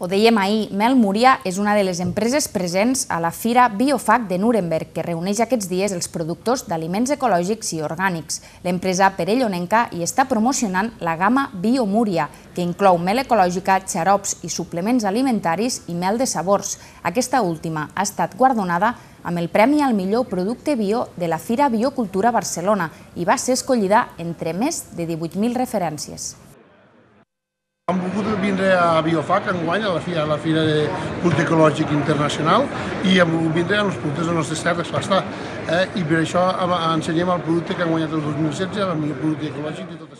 Ho dèiem ahir, Mel Múria és una de les empreses presents a la Fira Biofac de Nuremberg, que reuneix aquests dies els productors d'aliments ecològics i orgànics. L'empresa perellonenca hi està promocionant la gamma BioMúria, que inclou mel ecològica, xarops i suplements alimentaris i mel de sabors. Aquesta última ha estat guardonada amb el Premi al millor producte bio de la Fira Biocultura Barcelona i va ser escollida entre més de 18.000 referències. Hem volgut vindre a Biofac enguany, a la Fira de Producte Ecològic Internacional, i hem volgut vindre amb els productes dels nostres terres, clar està. I per això ensenyem el producte que hem guanyat el 2016, el millor producte ecològic de tot això.